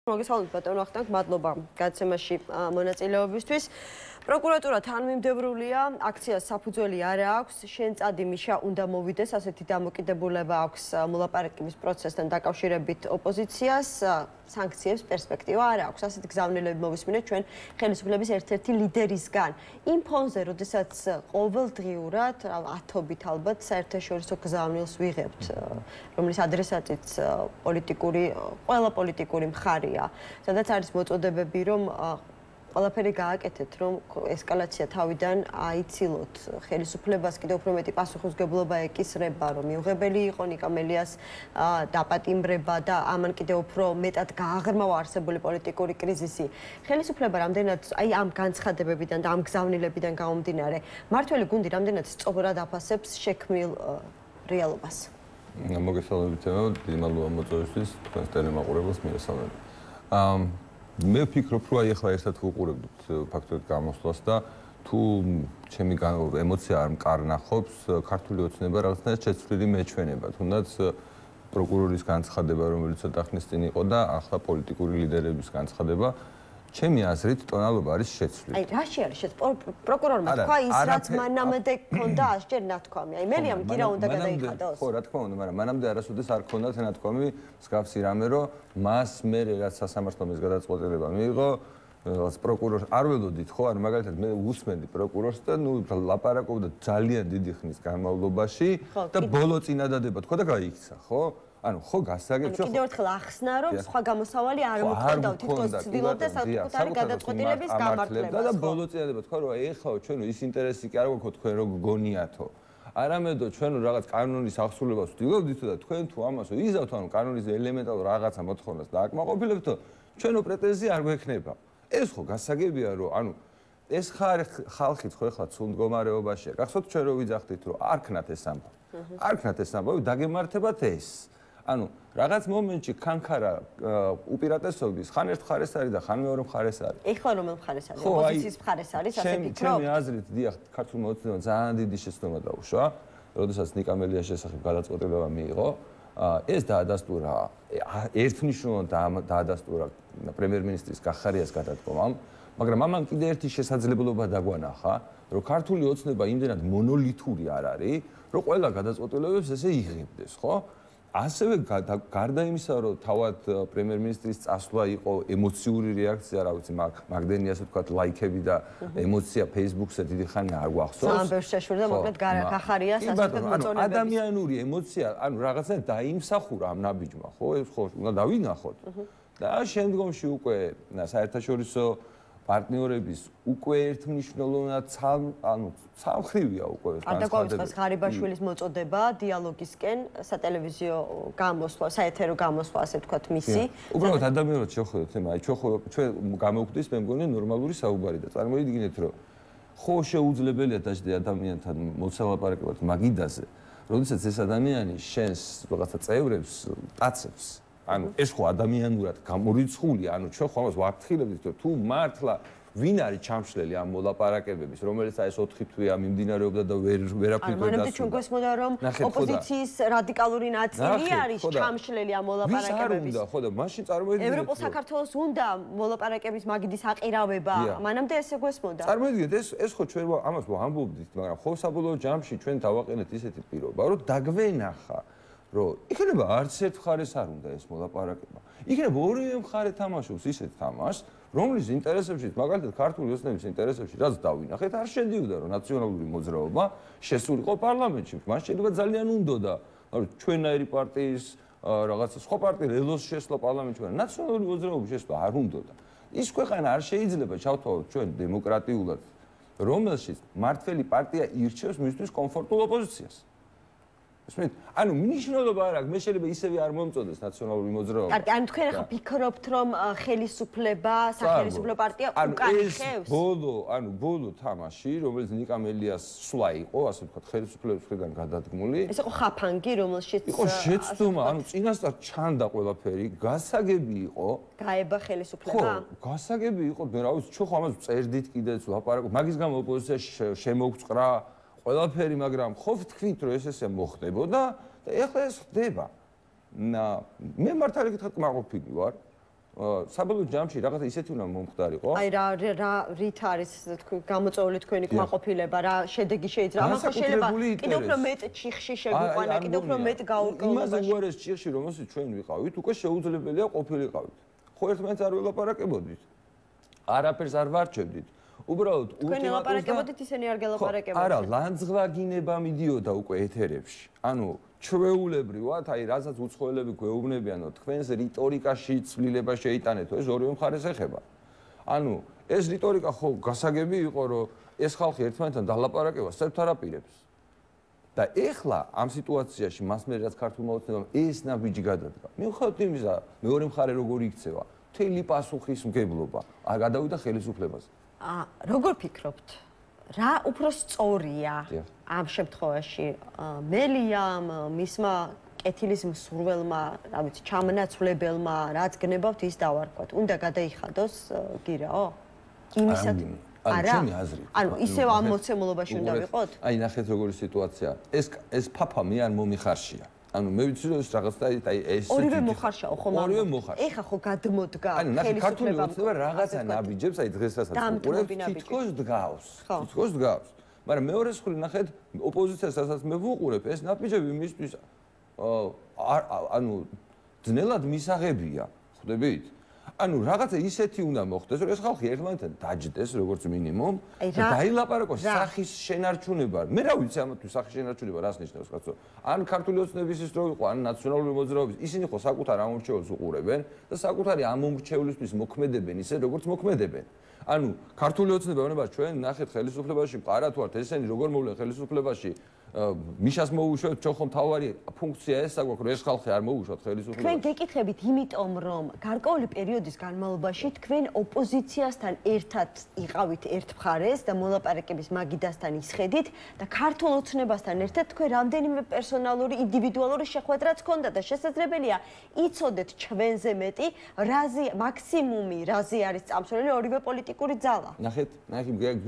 მოგესალმებით ბატონო ახტანგ, მადლობა გადაცემაში მონაწილეობისთვის. პროკურატურა თანმიმდევრულია, აქციას საფუძველი არ აქვს, შენ წადი მიშა უნდა მოვიდეს, ასეთი დამოკიდებულება აქვს მოლაპარაკების პროცესთან დაკავშირებით ოპოზიციას, სანქციებს პერსპექტივა არ აქვს. ასეთი გზავნილები მოვისმინეთ ჩვენ ხელისუფლების ერთ-ერთი ლიდერისგან. იმ ფონზე, როდესაც ყოველდღიურად, ათობით ალბათ საერთაშორისო გზავნილს ვიღებთ, რომლის ადრესატიც ყველა პოლიტიკური მხარია, სადაც არის მოწოდებები, რომ ყველაფერი გააკეთეთ, რომ ესკალაცია თავიდან აიცილოთ ხელისუფლებას, კიდევ უფრო მეტი პასუხისმგებლობა ეკისრება, რომ მიუღებელი იყო ნიკა მელიას დაპატიმრება და ამან კიდევ უფრო მეტად გააღრმავა არსებული პოლიტიკური კრიზისი. ხელისუფლება რამდენად აი ამ განცხადებებიდან და ამ გზავნილებიდან გამომდინარე, მართველი გუნდი რამდენად სწორად აფასებს შექმნილ რეალობას. მოგესალმებით, დიდი მადლობა მოწვევისთვის, თქვენს ტელემაყურებელს მიესალმებით. მე ვფიქრობ, რომ აი ახლა ერთად ვუყურებთ ფაქტობრივად გამოსვლას და თუ ჩემი ემოცია არ მკარნახობს, ქართული ოცნება რაღაცნაირად შეცვლილი მეჩვენება, თუნდაც პროკურორის განცხადება, რომელიც ცოტა ხნის წინ იყო და ახლა პოლიტიკური ლიდერების განცხადება, ჩემი აზრით ტონალობა არის შეცვლილი. აი, რაში არის პროკურორმა თქვა ის, რაც მანამდე ჰქონდა ასჯერ ნათქვამი. აი, მერიამ კი რა უნდა გადაიხადოს? ხო, რა თქმა უნდა, მაგრამ მანამდე არასოდეს არ ჰქონდათ ნათქვამი მსგავსი რამე, რომ მას მე რაც სასამართლოს გადაწყვეტილება მიიღო, რაღაც პროკურორს არ ველოდით, ხო, ანუ მაგალითად მე უსმენდი პროკურორს და ნუ ლაპარაკობდა ძალიან დიდი ხნის განმავლობაში და ბოლო წინადადება თქვა და გაიქცა, ხო? ანუ ხო გასაგებ ჩვენ კიდევ ერთხელ ახსნა რომ სხვა გამოსავალი არ მოხდა თითქოს ცდილობდა საკუთარი გადაწყვეტილების გამართლებას და ბოლო წინადადება თქვა რომ ეხლა ჩვენ ის ინტერესი კი არ გვაქვს თქვენ რო გგონიათო არამედო ჩვენ რაღაც კანონის აღსრულებას ვდივებდით და თქვენ თუ ამას იზავთ ანუ კანონის ელემენტალურ რაღაცა მოთხოვნას დააკმაყოფილებთ ჩვენო პრეტენზია არ გვექნება ეს ხო გასაგებია რომ ანუ ეს ხალხიც ხო ეხლა ცუდ მდგომარეობაშია გახსოვთ ჩვენ რო ვიძახდით რომ არ ქნათ ეს ამბავი დაგემართებათ ეს ანუ რაღაც მომენტში კანკარა უპირატესობის ხან ერთ მხარეს არის და ხან მეორე მხარეს არის. ეხლა რომელ მხარეს არის? ოპოზიციის მხარეს არის, ასე ფიქრობ? ჩემი აზრით, დიახ, ქართულმა ოცნებამ ძალიან დიდი შეცდომა დაუშვა, როდესაც ნიკა მელიას შესახებ გადაწყვეტილება მიიღო. ეს დაადასტურა ერთნიშნულად დაადასტურა პრემიერ-მინისტრის კახარიას გადადგომამ, მაგრამ ამან კიდე ერთი შესაძლებლობა დაგვანახა, რომ ქართული ოცნება იმდენად მონოლითური არ არის, რომ ყველა გადაწყვეტილებებს ესე იღებდეს, ხო? ასევე გარდა იმისა, რომ თავად პრემიერ-მინისტრის წასვლა იყო ემოციური რეაქცია, რა ვიცი, მაგდენი ასე ვთქვათ, ლაიქები და ემოცია Facebook-ზე დიდი ხანი არ გვახსოვს. ძალიან ბევრს შეშურდა, მოკლედ კახარიას ასე მოწონებების. ადამიანური ემოცია, ანუ რაღაცა დაიმსახურა ამ ნაბიჯმა, ხო? ეს ხო უნდა დავინახოთ. და შემდგომში უკვე საერთაშორისო პარტნიორების უკვე ერთმნიშვნელოვნად ცალმხრივია უკვე ეს განცხადება. არ დაგვაუწყეს ღარიბაშვილის მოწოდება დიალოგისკენ სატელევიზიო გამოსვლა, საეთერო გამოსვლა, ასე ვთქვათ, მისი. უბრალოდ ადამიანურად შევხედოთ ema, აი ჩვენ გამოვხდის მე მგონი ნორმალური საუბარი და წარმოიდგინეთ რომ ხო შეუძლებელია დაждე ადამიანთან მოცალაპარაკებად მაგიდაზე, როდესაც ეს ადამიანი შენს რაღაცა წევრებს ტაცებს ანუ ეს ხო ადამიანურად გამორიცხული, ანუ ჩვენ ხო ამას ვაფრთხილებდით, რომ თუ მართლა ვინ არის ჩამშლელი ამ მოლაპარაკებების, რომელიც აი ეს 4 თვეა მიმდინარეობდა და ვერაფრით ვერ დასრულდა. ანუ ჩვენ გვესმოდა რომ ოპოზიციის რადიკალური ნაწილი არის ჩამშლელი ამ მოლაპარაკებების. ვის არ უნდა, ხო და მაშინ წარმოიდგინეთ. ევროპულ საქართველოს უნდა მოლაპარაკების მაგიდის აყირავება. მანამდე ესე გვესმოდა. წარმოიდგინეთ ეს ხო ჩვენ ამას ვამბობდით, მაგრამ ხო საბოლოო ჯამში ჩვენ დავაყენეთ ისეთი პირობა, რომ დაგვენახა რომ იქნება არც ერთ მხარეს არ უნდა ეს მოლაპარაკება. იქნება ორივე მხარე თამაშობს ისეთ თამაშს, რომლის ინტერესებში, მაგალითად ქართული ოცნების ინტერესებში, რაც დავინახეთ, არ შედიოდა რომ ნაციონალური მოძრაობა შესულიყო პარლამენტში. მას შეიძლება ძალიან უნდოდა, ანუ ჩვენაირი პარტიის რაღაცა სხვა პარტია ელოს შესვლა პარლამენტში, მაგრამ ნაციონალური მოძრაობის შესვლა არ უნდოდა. ის ქვეყანა არ შეიძლება ჩავთვალოთ ჩვენ დემოკრატიულად, რომელშიც მართველი პარტია ირჩევს მისთვის კომფორტულ ოპოზიციას. ანუ მნიშვნელობა არ აქვს, მე შეიძლება ისევე არ მომწოდეს ნაციონალური მოძრაობა. კარგი, ანუ თქვენ ახლა ფიქრობთ, რომ ხელისუფლება, სახელმწიფო პარტია უკარიხევს? ბოლო თამაში, რომელიც ნიკა მელიას სვლა იყო, ასე ვთქვათ, ხელისუფლების მხრიდან გადადგმული. ეს იყო ხაფანგი, რომელშიც იყო შეცდომა, ანუ წინასწარ ჩანდა ყველაფერი, გასაგები იყო. გაება ხელისუფლება? ხო, გასაგები იყო, რა ვიცი, ჩვენ ხო ამას წერდით კიდეც ლაპარაკობ, მაგის გამო ოპოზიცია შემოგვწყრა ყველაფერი, მაგრამ ხო ვთქვით, რომ ესე მოხდებოდა და ეხლა ეს ხდება. მე მართალი გითხრათ, კმაყოფილი ვარ. საბოლოო ჯამში რაღაცა ისეთი უნდა მომხდარიყო. აი რა რით არის გამოწვეული თქვენი კმაყოფილება, რა შედეგი შეიძლება? ამას შეიძლება კიდევ უფრო მეტ ჩიხში შეგვიყვანა, კიდევ უფრო მეტ გაურკვევლობაში. იმაზე გვარეს ჩიხში, რომელსაც ჩვენ ვიყავით, უკვე შეუძლებელია ყოფილიყავით. ხო ერთმანეთს არ ველაპარაკებოდით. არაფერს არ ვარჩევდით. უბრალოდ თქვენ ელაპარაკებოდით, ისინი არ გელაპარაკებოდნენ. არა, ლანძღვაგინება მიდიოდა უკვე ეთერებში. ანუ ჩვეულებრივად, აი, რასაც უცხოელები გვეუბნებიან, რომ თქვენს რიტორიკაში ცვლილება შეიტანეთო, ეს ორივე მხარეს ეხება. ანუ ეს რიტორიკა ხო გასაგები იყო, რომ ეს ხალხი ერთმანეთთან დალაპარაკება სერბთ არაპირებს. და ეხლა ამ სიტუაციაში მას მე რაც ქართულმა ოცნებამ ეს ნაბიჯი გადადგა. მიუხედავად იმისა, მეორე მხარე როგორ იქცევა, მთელი პასუხისმგებლობა არ გადავიდა ხელისუფლებას. როგორ ფიქრობთ? რა უფრო სწორია ამ შემთხვევაში? მელიამ, მისმა კეთილის მსურველმა, რა ვიცი, ჩამნაცვლებელმა, რაც გნებავთ ის დავარქვათ. უნდა გადაიხადოს გირაო? იმისად არა? ანუ ისევ ამ მოცემულობაში უნდა ვიყოთ? აი, ნახეთ როგორი სიტუაცია. ეს ფაფა მე არ მომიხარშია. ანუ მე ვიცი რომ ეს რაღაცა აი ეს ორივე მოხარშაო ხომ? ორივე მოხარშა. ეხა ხო გადმოდგა ხელისუფლება. ანუ ნახე ქართული ოცნება რაღაცა ნაბიჯებს აი დღეს რასაც უყურებთ თითქოს დგავს. თითქოს დგავს. მაგრამ მეორე მხრივ ნახეთ ოპოზიციას რასაც მე ვუყურებ ეს ნაბიჯები მისთვის ანუ ძნელად მისაღებია. ხვდებით? ანუ რაღაცა ისეთი უნდა მოხდეს რომ ეს ხალხი ერთმანეთთან დაჯდეს როგორც მინიმუმ და დაილაპარაკოს სახის შენარჩუნება. მე რა ვიცი ამათთვის სახის შენარჩუნება რას ნიშნავს კაცო? ან ქართული ოცნების ის რო იყო, ან ნაციონალური მოძრაობის, ისინი ხო საკუთარ ამორჩეულს უყურებენ და საკუთარი ამორჩეულისთვის მოქმედებენ ისე როგორც მოქმედებენ. ანუ ქართული ოცნება უნდა ჩვენ ნახეთ ხელისუფლებაში მყარა თუ არ ესენი როგორ მოვლენ ხელისუფლებაში მიშას მოუშვათ ჩვენ ხომ თავარი ფუნქცია ეს საგვაქვს რომ ეს ხალხი არ მოუშვათ ხელისუფლებას. თქვენ გეკითხებით იმიტომ რომ გარკვეული პერიოდის განმავლობაში თქვენ ოპოზიციასთან ერთად იყავით ერთ მხარეს და მოლაპარაკების მაგიდასთან ისხედით და ქართულ ოცნებასთან ერთად თქვენ რამდენიმე პერსონალური ინდივიდუალური შეხვედრაც ჰქონდა და შესაძლებელია იცოდეთ ჩვენზე მეტი რაზე მაქსიმუმი რაზე არის წამსვლელი ორივე პოლიტიკური ძალა. ნახეთ,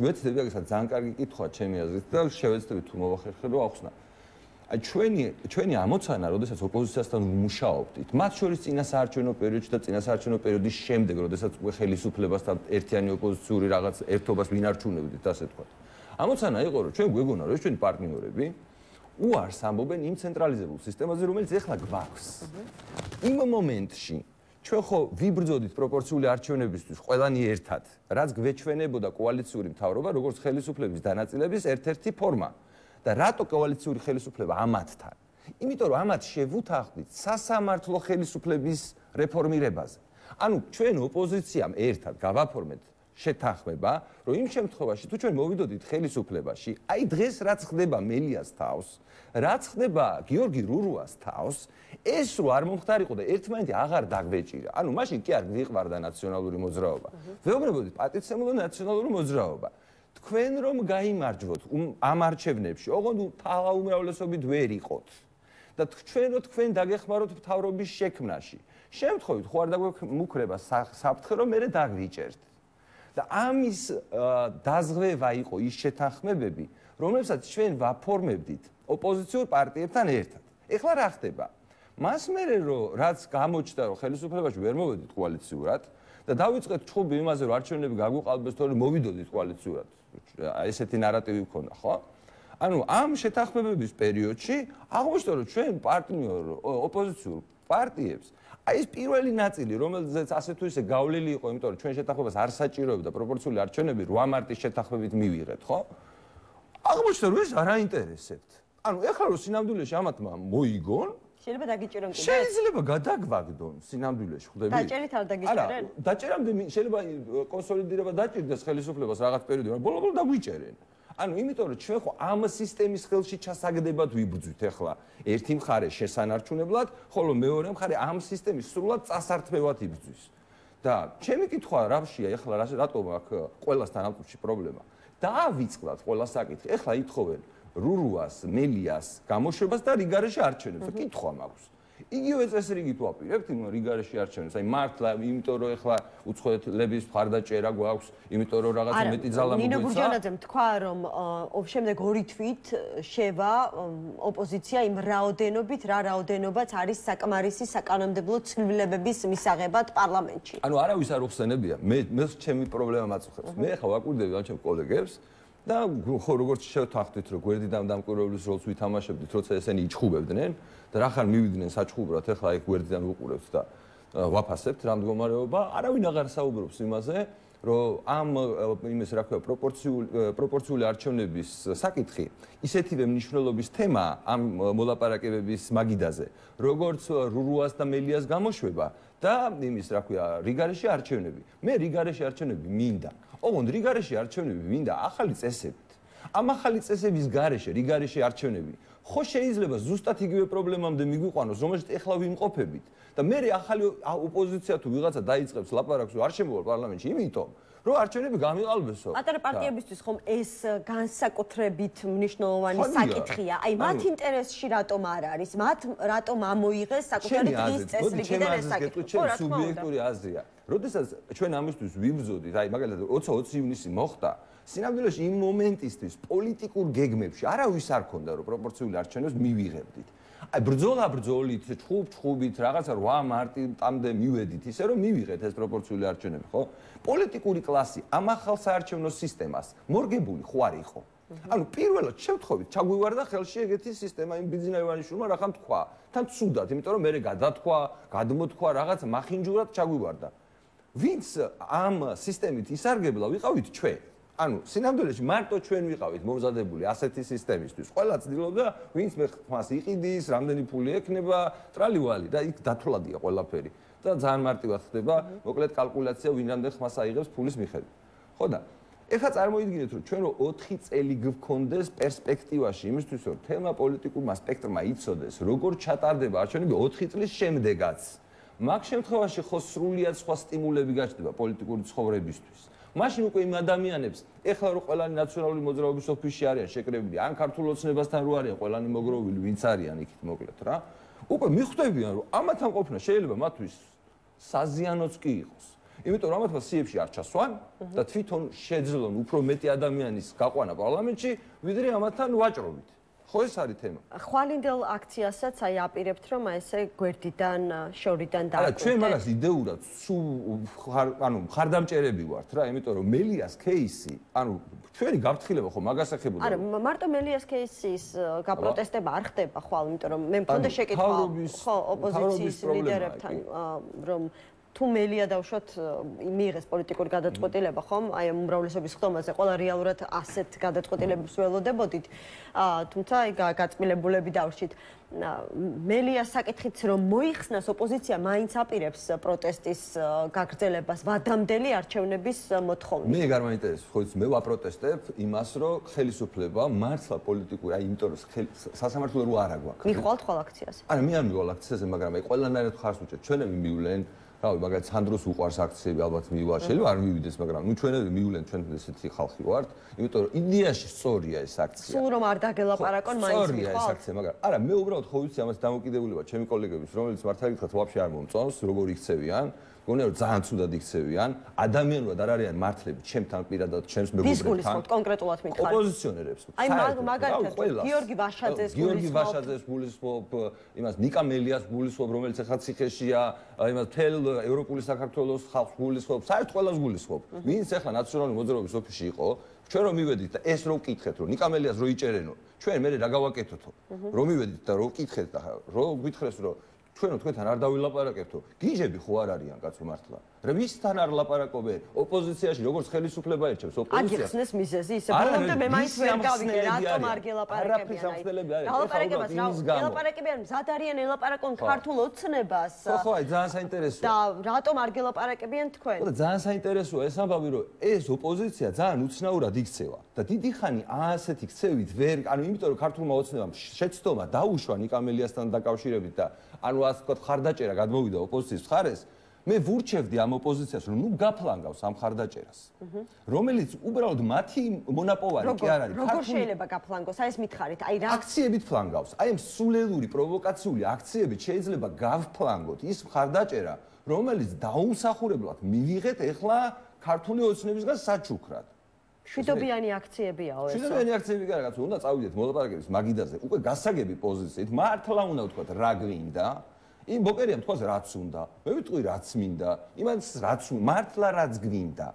გვეცდები აგესაც ძალიან კარგი კითხვაა ჩემი აზრით და შევეცდები თუ მოვახერხო ახსნა. აი ჩვენი ამოცანა, როდესაც ოპოზიციასთან ვმუშაობდით, მათ შორის წინასაარჩევნო პერიოდში და წინასაარჩევნო პერიოდის შემდეგ, როდესაც უკვე ხელისუფლებასთან ერთიანი ოპოზიციური რაღაც ერთობას ვინარჩუნებდით, ასე თქვა. ამოცანა იყო, რომ ჩვენ გვეგონა, რომ ჩვენი პარტნიორები უარს ამბობენ იმ ცენტრალიზებულ სისტემაზე, რომელიც ეხლა გვაქვს. იმ მომენტში ჩვენ ხო ვიბრძოდით პროპორციული არჩევნებისთვის ყველანი ერთად, რაც გვეჩვენებოდა კოალიციური მთავრობა, როგორც ხელისუფლების დანაწილების ერთ-ერთი ფორმა. და რატო კოალიციური ხელისუფლება ამათთან? იმიტომ რომ ამათ შევუთანხმდით სასამართლო ხელისუფლების რეფორმირებაზე. ანუ ჩვენ ოპოზიციამ ერთად გავაფორმეთ შეთანხმება, რომ იმ შემთხვევაში თუ ჩვენ მოვიდოდით ხელისუფლებაში, აი დღეს რაც ხდება მელიას თავს, რაც ხდება გიორგი რურუას თავს, ეს რო არ მომხდარიყო და ერთმანეთი აღარ დაგვეჭირა. ანუ მაშინ კი არ გვიყვარდა ნაციონალური მოძრაობა. ვეუბნებოდით პატიცემულო ნაციონალური მოძრაობა. თქვენ რომ გაიმარჯვოთ ამ არჩევნებში, ოღონდ თავა უმრავლესობით ვერ იყოთ და ჩვენ რო თქვენ დაგეხმაროთ მთავრობის შექმნაში. შემთხვევით ხო არ დაგვემუქრება საფრთხე რომ მე დაგვიჭერთ. და ამის დაზღვევა იყო ის შეთანხმებები, რომლებსაც ჩვენ ვაფორმებდით ოპოზიციურ პარტიებთან ერთად. ეხლა რა ხდება? მას მერე რომ რაც გამოჩნდა რომ ხელისუფლებაში ვერ მოვედით კოალიციურად და დავიწყეთ ჩხუბი იმაზე რომ არჩევნები გაგვიყალბეს თორემ მოვიდოდით კოალიციურად. ესეთი ნარატივი მქონდა, ხო? ანუ ამ შეთანხმებების პერიოდში აღმოჩნდა რომ ჩვენ პარტნიორ ოპოზიციურ პარტიებს აი ეს პირველი ნაწილი რომელზეც ასე თუ ისე გავლილი იყო, იმიტომ რომ ჩვენ შეთანხმებას არ საჭიროებდა პროპორციული არჩევნები 8 მარტის შეთანხმებით მივიღეთ, ხო? აღმოჩნდა რომ ეს არ აინტერესებთ. ანუ ეხლა რომ სინამდვილეში ამათმა მოიგონ შეიძლება დაგიჭირონ კიდე. შეიძლება გადაგვაგდონ სინამდვილეში, ხვდები? დაჭერით არ დაგიჭერენ? არა, დაჭერამდე შეიძლება კონსოლიდირება დაჭირდეს ხელისუფლებას რაღაც პერიოდი, მაგრამ ბოლო-ბოლო დაგვიჭერენ. ანუ იმიტომ რომ ჩვენ ხო ამ სისტემის ხელში ჩასაგდებად ვიბრძვით ახლა ერთი მხარე შესანარჩუნებლად, ხოლო მეორე მხარე ამ სისტემის სრულად წასართმევად იბრძვის. და ჩემი კითხვა რავშია ახლა რატომ აქ ყველასთან ამ კუთხეში პრობლემა? დაავიწყდათ ყველა საკითხი. ახლა ითხოვენ რურუას, მელიას, გამოშვებას და რიგარეში არჩევნებს. კითხვა მაქვს. იგივე წესრიგით ვაპირებთ იმ რიგარეში არჩევნებს. აი მართლა, იმიტომ რომ ეხლა უცხოეთლების მხარდაჭერა გვაქვს, იმიტომ რომ რაღაცა მეტი ძალა მოგვეცა. ნინო გურჯანაძემ თქვა, რომ შემდეგ 2 თვით შევა ოპოზიცია იმ რაოდენობით, რა რაოდენობაც არის საკმარისი საკანონმდებლო ცვლილებების მისაღებად პარლამენტში. ანუ არავის არ უხსენებია. მე ჩემი პრობლემა მაწუხებს. მე ახლა ვაკვირდები ამ ჩემ კოლეგებს და ხო როგორც შევთანხმდით, რომ გვერდიდან დამკვირვებლის როლს ვითამაშებდით, როცა ესენი იჩხუბებდნენ და რახან მივიდნენ საჩხუბრად, ახლა აი გვერდიდან ვუყურებთ და ვაფასებთ რა მდგომარეობა, არავინ აღარ საუბრობს იმაზე, რომ ამ იმის რა ქვია პროპორციული არჩევნების საკითხი ისეთივე მნიშვნელობის თემაა ამ მოლაპარაკებების მაგიდაზე, როგორც რურუას და მელიას გამოშვება და იმის რა ქვია რიგარეში არჩევნები. მე რიგარეში არჩევნები მინდა. ოღონდ რიგარეში არჩევნები მინდა ახალი წესებით. ამ ახალი წესების გარეშე რიგარეში არჩევნები ხო შეიძლება ზუსტად იგივე პრობლემამდე მიგვიყვანოს, რომელშიც ეხლა ვიმყოფებით და მე ახალი ოპოზიცია თუ ვიღაცა დაიწყებს ლაპარაკს, რომ არ შემოვალ პარლამენტში, იმიტომ რომ არჩევნები გამიყალბესო. პატარა პარტიებისთვის ხომ ეს განსაკუთრებით მნიშვნელოვანი საკითხია. აი მათ ინტერესში რატომ არ არის? მათ რატომ ამოიღეს საკუთარი დღის წესრიგიდან ეს საკითხი? ჩემი სუბიექტური აზრია. როდესაც ჩვენ ამისთვის ვიბრძოდით, აი მაგალითად 20 ივნისი მოხდა, სინამდვილეში იმ მომენტისთვის პოლიტიკურ გეგმებში არავის არ ქონდა რომ პროპორციული არჩევნებს მივიღებდით. აი ბრძოლით, ჩხუბით, რაღაცა 8 მარტამდე მივედით, ისე რომ მივიღეთ ეს პროპორციული არჩევნები, ხო? პოლიტიკური კლასი ამ ახალ საარჩევნო სისტემას მორგებული ხო არ იყო. ანუ პირველად შევთხოვით, ჩაგვივარდა ხელში ეგეთი სისტემა იმ ბიძინა ივანიშვილმა რახან თქვა. თან ცუდად, იმიტომ რომ მე გადათქვა, გადმოთქვა რაღაცა მახინჯურად ჩაგვივარდა. ვინც ამ სისტემით ისარგებლა ვიყავით ჩვენ. ანუ სინამდვილეში მარტო ჩვენ ვიყავით მომზადებული ასეთი სისტემისთვის. ყველა ცდილობდა, ვინც მას იყიდის, რამდენი ფული ექნება, ტრალივალი და იქ დათვლადია ყველაფერი. და ძალიან მარტივად ხდება, მოკლედ კალკულაცია ვინ რამდენ ხმას აიღებს ფულის მიხედვით. ხო და ეხლა წარმოიდგინეთ, რომ ჩვენ 4 წელი გვქონდეს პერსპექტივაში იმისთვის, რომ თემა პოლიტიკურმა სპექტრმა იცოდეს, როგორ ჩატარდება არჩევნები 4 წლის შემდეგაც. მაგ შემთხვევაში ხო სრულიად სხვა სტიმულები გაჩნდება პოლიტიკური ცხოვრებისთვის. მაშინ უკვე იმ ადამიანებს, ეხლა რო ყველანი ნაციონალური მოძრაობის ოფისში არიან შეკრებილი, ან ქართულ ოცნებასთან რო არიან ყველანი მოგროვილი, ვინც არიან იქით მოკლედ რა. უკვე მიხვდებიან, რომ ამათთან ყოფნა შეიძლება მათთვის საზიანოც კი იყოს. იმიტომ რომ ამათმა სიებში არ ჩასვან და თვითონ შეძლონ უფრო მეტი ადამიანის გაყვანა პარლამენტში, ვიდრე ამათთან ვაჭრობით. ხო ეს არის თემა. ხვალინდელ აქციასაც აი აპირებთ რომ ესე გვერდიდან, შორიდან დააკვირდეთ. არა, ჩვენ მაგას იდეურად ანუ მხარდამჭერები ვართ რა, იმიტომ რომ მელიას кейსი, ანუ ჩვენი გაფრთხილება ხო მაგას ეხებოდა. არა, მარტო მელიას кейსის გაპროტესტება არ ხდება ხვალ, იმიტომ რომ მე მქონდა შეკითხვა ხო ოპოზიციის ლიდერებთან, რომ თუ მელია დავშოთ მიიღეს პოლიტიკური გადაწყვეტილება, ხომ? აი უმრავლესობის ხდომაზე ყველა რეალურად ასეთ გადაწყვეტილებებს ველოდებოდით. თუმცა აი გაწმილებულები დავრჩით. მელიას საკითხიც რომ მოიხსნას ოპოზიცია მაინც აპირებს პროტესტის გაგრძელებას ვადამდელი არჩევნების მოთხოვნით. მე ეგ არ მაინტერესებს, ხო იცი, მე ვაპროტესტებ იმას, რომ ხელისუფლება მართლა პოლიტიკური, აი იმიტომ რომ სასამართლო რო არა გვაქვს. მიხვალთ ხვალ აქციაზე. არა, მე არ მივალ აქციაზე, მაგრამ აი ყველანაირად ხარს უჭერთ. ჩვენები მივლენ რავი, მაგალითად სანდროს უყვარს აქციები, ალბათ მივა, შეიძლება არ მივიდეს, მაგრამ ნუ ჩვენები მივლენ, ჩვენ ესეთი ხალხი ვართ, იმიტომ რომ იდეაში სწორია ეს აქცია. სულ რომ არ დაგელაპარაკონ მაინც სწორია ეს აქცია, მაგრამ არა, მე უბრალოდ ხო ვიცი ამას დამოკიდებულება ჩემი კოლეგების, რომელიც მართლა გითხრათ, ვაფშე არ მომწონს, როგორ იქცევიან. გონია რომ ძალიან ცუდად იქცევიან, ადამიანურად არ არიან მართლები, ჩემთან პირადად, ჩემს მეგობრებთან. ვის გულისხმობთ კონკრეტულად მითხარით? ოპოზიციონერებს. აი მაგალითად გიორგი ვაშაძეს გულისხმობ, იმას ნიკა მელიას გულისხმობ, რომელიც ახლა ციხეშია, იმას თელ ევროპული საქართველოს ხალხს გულისხმობ, საერთოდ ყველას გულისხმობ. ვინც ახლა ნაციონალური მოძრაობის ოფისში იყო, ჩვენ რომ მივედით და ეს რო ვკითხეთ, რომ ნიკა მელიას რო იჭერენო, ჩვენ მე რა გავაკეთოთო? რომ მივედით და რო ვკითხეთ და რო გითხრეს რომ ჩვენო თქვენთან არ დავილაპარაკებთო, გიჟები ხო არ არიან კაცო მართლა. რა ვისთან არ ლაპარაკობენ? ოპოზიციაში როგორც ხელისუფლება ერჩევს ოპოზიციას. აგიხსნეს მიზეზი ისე ბოლომდე მე მაინც ვერ გავიგე რატომ არ გელაპარაკებიან. გელაპარაკებიან მზად არიან ელაპარაკონ ქართულ ოცნებას. ხო, აი ძალიან საინტერესოა. და რატომ არ გელაპარაკებიან თქვენ? ხო და ძალიან საინტერესოა ეს ამბავი, რომ ეს ოპოზიცია ძალიან უცნაურად იქცევა და დიდი ხანი ასეთი ქცევით ვერ, ანუ იმიტომ რომ ქართულმა ოცნებამ შეცდომა დაუშვა ნიკა მელიასთან დაკავშირებით და ანუ ასე ვთქვათ ხარდაჭერა გადმოვიდა ოპოზიციის მხარეს, მე ვურჩევდი ამ ოპოზიციას, რომ ნუ გაფლანგავს ამ ხარდაჭერას. რომელიც უბრალოდ მათი მონაპოვარი კი არ არის. როგორ შეიძლება გაფლანგოს? აი ეს მითხარით, აი რა აქციებით ფლანგავს. აი ამ სულელური პროვოკაციული აქციებით შეიძლება გავფლანგოთ ის ხარდაჭერა, რომელიც დაუმსახურებლად მივიღეთ ეხლა ქართული ოცნებისგან საჩუქრად. შვიდობიანი აქციებიაო ეს. შვიდობიანი აქციები კი არა, კაცო, უნდა წავიდეთ მოლაპარაკების მაგიდაზე. უკვე გასაგები პოზიციით, მართლა უნდა ვთქვათ რა გვინდა. იმ ბოკერიამ თქვას რაც უნდა. მე ვიტყვი რაც მინდა. იმას რაც მართლა რაც გვინდა.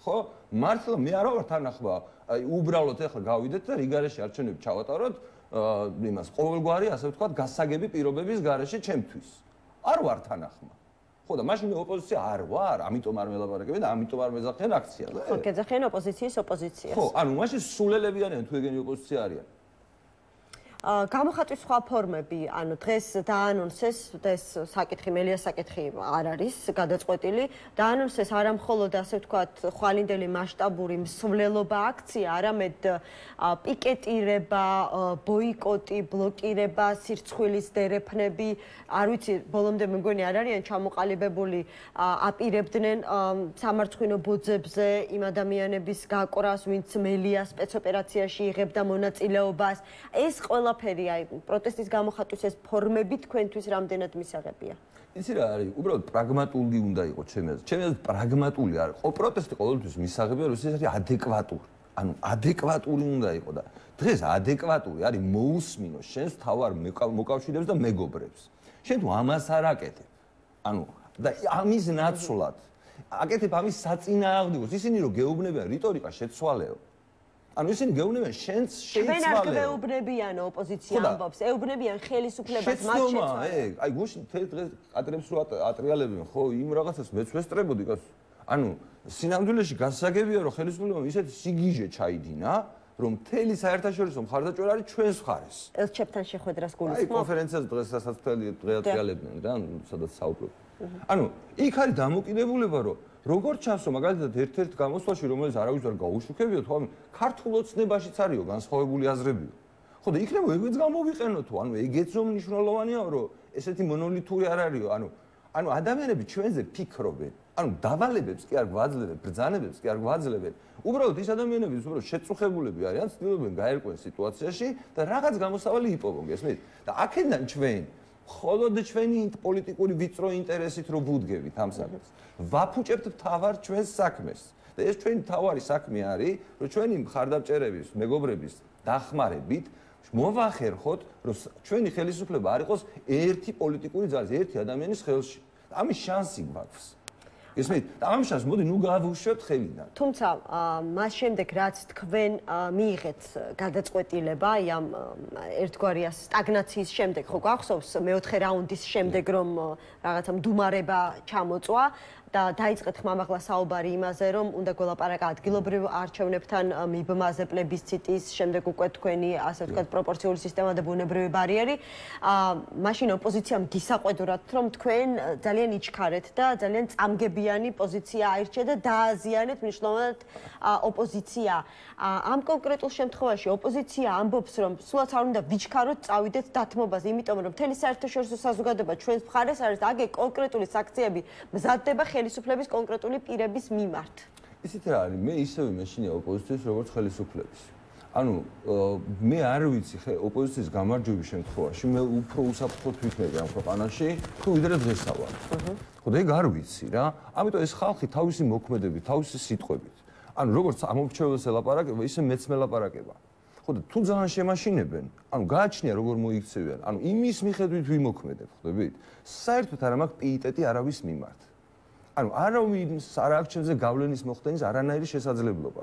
ხო? მართლა მე არა ვარ თანახმა. აი უბრალოდ ეხლა გავიდეთ და რიგარეში არჩევნები ჩავატაროთ იმას ყოველგვარი ასე ვთქვათ გასაგები პირობების გარეშე ჩემთვის. არ ვარ თანახმა. ხო და მაშინ მე ოპოზიცია არ ვარ, ამიტომ არ მელაპარაკებენ და ამიტომ არ მეძახიან აქციაზე. ხო, გეძახიან ოპოზიციის ოპოზიციას. ხო, ანუ მაშინ სულელები არიან თუ ეგენი ოპოზიცია არიან. გამოხატვის სხვა ფორმები, ანუ დღეს დაანონსეს, ეს საკითხი, მელიას საკითხი არ არის გადაწყვეტილი, დაანონსეს არა მხოლოდ ასე ვთქვათ, ხვალინდელი მასშტაბური მსვლელობა აქცია, არამედ პიკეტირება, ბოიკოტი, ბლოკირება, სირცხვილის დერეფნები, არ ვიცი, ბოლომდე მე მგონი არ არიან ჩამოყალიბებული, აპირებდნენ სამარცხვინო ბოძებზე იმ ადამიანების გაკვრას, ვინც მელიას სპეცოპერაციაში იღებდა მონაწილეობას. ეს ყველაფერი აი პროტესტის გამოხატვის ეს ფორმები თქვენთვის რამდენად მისაღებია? იცი რა არის, უბრალოდ პრაგმატული უნდა იყოს ჩემი აზრით. ჩემი აზრით პრაგმატული არ იყო. პროტესტი ყოველთვის მისაღებია, რომ ეს არის ადეკვატური. ანუ ადეკვატური უნდა იყოს და დღეს ადეკვატური არის მოусმინო შენს თავარ მოკავშირეებს და მეგობრებს. შენ თუ ამას არ აკეთებ. ანუ და ამის ნაცვლად აკეთებ ამის საწინააღმდეგოს. ისინი რომ გეუბნებიან რიტორიკა შეცვალეო. ანუ ისინი გეუბნებიან შენს შეიცვალეო. ჩვენ არ გვეუბნებიან ოპოზიცია ამბობს, ეუბნებიან ხელისუფლებას მათ შეცვალე. აი გუშინ დღეს ატრებს რო ატრიალებენ ხო იმ რაღაცას მეც ვესწრებოდი კაცო. ანუ სინამდვილეში გასაგებია რომ ხელისუფლებამ ისეთი სიგიჟე ჩაიდინა რომ მთელი საერთაშორისო მხარდაჭერა არის ჩვენს მხარეს. ელჩებთან შეხვედრას გულისხმობ? აი კონფერენციაზე დღესაც მთელი დღე ატრიალებდნენ რა, სადაც საუბრობ. ანუ იქ არის დამოკიდებულება რომ როგორც ჩანსო მაგალითად ერთ-ერთ გამოსვლაში რომელიც არავის არ გაუშუქებიო თუ ამ ქართულ ოცნებაშიც არისო განსხვავებული აზრებიო. ხო და იქნება ეგეც გამოვიყენო თუ ანუ ეგეც რომ მნიშვნელოვანია რომ ესეთი მონოლითური არ არისო ანუ ადამიანები ჩვენზე ფიქრობენ ანუ დავალებებს კი არ გვაძლევენ ბრძანებებს კი არ გვაძლევენ უბრალოდ ის ადამიანები უბრალოდ შეწუხებულები არიან ცდილობენ გაერკვენ სიტუაციაში და რაღაც გამოსავალი იპოვონ გესმით და აქედან ჩვენ მხოლოდ ჩვენი პოლიტიკური ვიწრო ინტერესით რო ვუდგებით ამ საქმეს ვაფუჭებთ თავარ ჩვენს საქმეს და ეს ჩვენი თავარი საქმე არის რომ ჩვენი მხარდამჭერების მეგობრების დახმარებით მოვახერხოთ რომ ჩვენი ხელისუფლება არ იყოს ერთი პოლიტიკური ძალის ერთი ადამიანის ხელში ამის შანსი გვაქვს ისმით და ამ შანსს მოდი ნუ გავუშვებთ ხელიდან თუმცა მას შემდეგ რაც თქვენ მიიღეთ გადაწყვეტილება აი ამ ერთგვარი სტაგნაციის შემდეგ ხო გახსოვს მეოთხე რაუნდის შემდეგ რომ რაღაცა მდუმარება ჩამოწვა და დაიწყეთ ხმამაღლა საუბარი იმაზე რომ უნდა გველაპარაკა ადგილობრივ არჩევნებთან მიბმაზე პლებისციტის შემდეგ უკვე თქვენი ასე ვთქვათ პროპორციული სისტემა და ბუნებრივი ბარიერი მაშინ ოპოზიციამ გისაყვედურათ რომ თქვენ ძალიან იჩქარეთ და ძალიან წამგებიანი პოზიცია აირჩიეთ და დააზიანეთ მნიშვნელოვნად ოპოზიცია ამ კონკრეტულ შემთხვევაში ოპოზიცია ამბობს რომ სულაც არ უნდა ვიჩქაროთ წავიდეთ დათმობაზე იმიტომ რომ მთელი საერთაშორისო საზოგადოება ჩვენს მხარეს არის და აგე კონკრეტული საქციები მზადდება ხელისუფლების კონკრეტული პირების მიმართ. ისეთ რა არის, მე ისევე მეშინია ოპოზიციის როგორც ხელისუფლების. ანუ მე არ ვიცი ოპოზიციის გამარჯვების შემთხვევაში მე უფრო უსაფრთხოდ ვიქნები ამ ქვეყანაში, თუ ვიდრე დღესა ვარ. ხო და ეგ არ ვიცი რა. ამიტომ ეს ხალხი თავისი მოქმედებით, თავისი სიტყვებით. ანუ როგორც ამორჩეველს ელაპარაკება, ისე მეც მელაპარაკება. ხო და თუ ძალიან შემაშინებენ, ანუ გააჩნია როგორ მოიქცევიან, ანუ იმის მიხედვით ვიმოქმედებ, ხვდებით? საერთოდ არ მაქვს პიიტეტი არავის მიმართ. ანუ არავის არ აქვს ჩემზე გავლენის მოხდენის არანაირი შესაძლებლობა.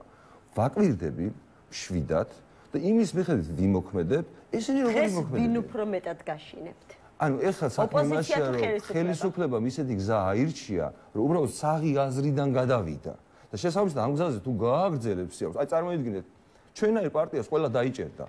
ვაკვირდები შვიდად და იმის მიხედვით ვიმოქმედებ, ესენი როგორ იმოქმედებენ? ვინ უფრო მეტად გაშინებთ? ანუ ეხლა საქმე იმაშია, რომ ხელისუფლებამ ისეთი გზა აირჩია, რომ უბრალოდ საღი აზრიდან გადავიდა. და შესაბამისად ამ გზაზე თუ გააგრძელებ სიაქვს, აი წარმოიდგინეთ, ჩვენაირ პარტიას ყველა დაიჭერდა.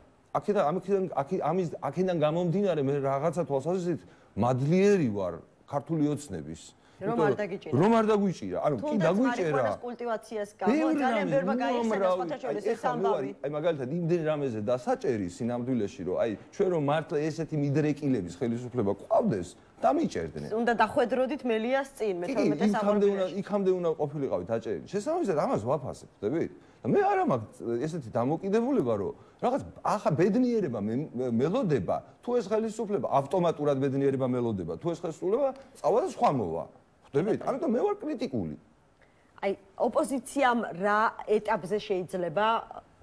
აქედან გამომდინარე მე რაღაცა თვალსაზრისით მადლიერი ვარ ქართული ოცნების რომ არ დაგიჭირა. რომ არ დაგვიჭირა. ანუ კი დაგვიჭერა. თუნდაც კულტივაციას გამო ძალიან ბევრმა გაიხსნა სხვათა შორის ეს ამბავი. აი მაგალითად იმდენ რამეზე დასაჭერი სინამდვილეში რომ აი ჩვენ რომ მართლა ესეთი მიდრეკილების ხელისუფლება ყავდეს, დამიჭერდნენ. უნდა დახვედროდით მელიას წინ მე-12 საუკუნეში. იქამდე უნდა ყოფილიყავით აჭერილი. შესაბამისად ამას ვაფასებ, ხდებით? და მე არა მაქვს ესეთი დამოკიდებულება, რომ რაღაც ახლა ბედნიერება მელოდება, თუ ეს ხელისუფლება ავტომატურად ბედნიერება მელოდება, თუ ეს ხელისუფლება წავა და სხვა მოვა. ხდებით? ამიტომ მე ვარ კრიტიკული. აი, ოპოზიციამ რა ეტაპზე შეიძლება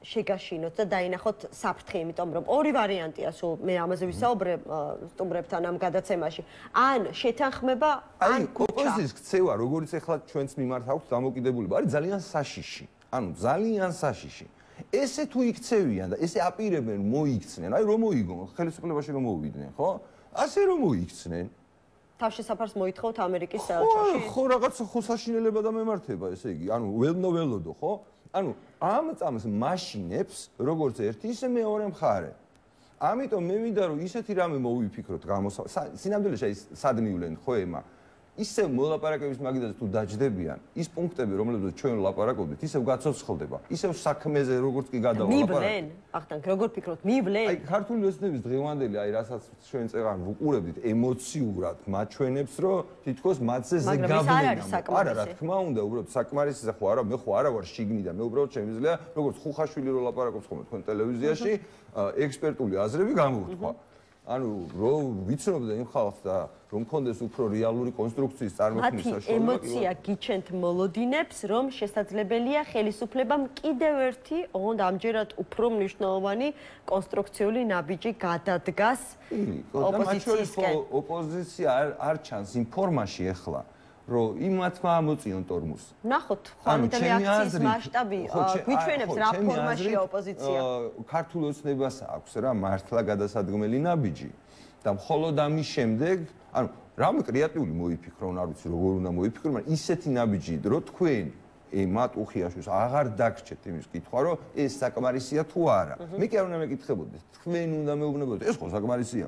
შეგაშინოთ და დაინახოთ საფრთხე, იმიტომ რომ ორი ვარიანტია, სულ მე ამაზე ვისაუბრებ სტუმრებთან ამ გადაცემაში. ან შეთანხმება, ან კუჩა. ოპოზიციის ქცევა, როგორც ეხლა ჩვენს მიმართ აქვს დამოკიდებულება, არის ძალიან საშიში. ანუ ძალიან საშიში. ესე თუ იქცევიან და ესე აპირებენ მოიქცნენ, აი რომ მოიგონ, ხელისუფლებაში რომ მოვიდნენ, ხო? ასე რომ მოიქცნენ. თავშესაფარს მოითხოვთ ამერიკის საელჩოში? ხო, რაღაცა ხოსაშინელება და მემართება, ესე იგი, ანუ ველნო-ველოდო, ხო? ანუ ამ წამს მაშინებს, როგორც ერთი, ისე მეორე მხარე. ამიტომ მე მინდა რომ ისეთი რამე მოვიფიქროთ სინამდვილეში აი სად მივლენ ხო ემა ისე მოლაპარაკების მაგიდაზე თუ დაждდებიან ის პუნქტები რომლებზეც ჩვენ ვლაპარაკობდით ისევ გაცოცხლდება ისევ საქმეზე როგორც კი გადავალაპარაკეთ მივლენ ახთან როგორ ფიქრობთ მივლენ აი ქართული ოცნების დღევანდელი აი რასაც ჩვენ წეღან ვუყურებდით ემოციურად მაჩვენებს რომ თითქოს მათზე ზეგავლენა არა რა თქმა უნდა უბრალოდ საკმარისზე ხო არა მე ხო არა ვარ შიგნიდან მე უბრალოდ შემიძლია როგორც ხუხაშვილი რო ლაპარაკობს ხოლმე თქვენ ტელევიზიაში ექსპერტული აზრები გამოვთქვა ანუ რომ ვიცნობდა იმ ხალხს და რომ კონდეს უფრო რეალური კონსტრუქციის წარმოქმნის საშუალება ემოცია გიჩენთ მოლოდინებს რომ შესაძლებელია ხელისუფლებამ კიდევ ერთი ოღონდ ამჯერად უფრო მნიშვნელოვანი კონსტრუქციული ნაბიჯი გადადგას ოპოზიციისკენ ოპოზიცია არ ჩანს იმ ფორმაში ახლა რომ იმათმა ამოწიონ ტორმუს. ნახოთ, ხვალინდელი აქციის მასშტაბი გვიჩვენებს რა ფორმაშია ოპოზიცია. ქართულ ოცნებას აქვს რა მართლა გადასადგმელი ნაბიჯი და მხოლოდ ამის შემდეგ, ანუ რამე კრეატიული მოიფიქრონ, არ ვიცი როგორ უნდა მოიფიქრონ, მაგრამ ისეთი ნაბიჯი, რომ თქვენ ემატ უხიაშვილს აღარ დაგჭერთ იმის კითხვა, რომ ეს საკმარისია თუ არა. მე კი არ უნდა მეკითხებოდი, თქვენ უნდა მეუბნებოდეთ, ეს ხო საკმარისია.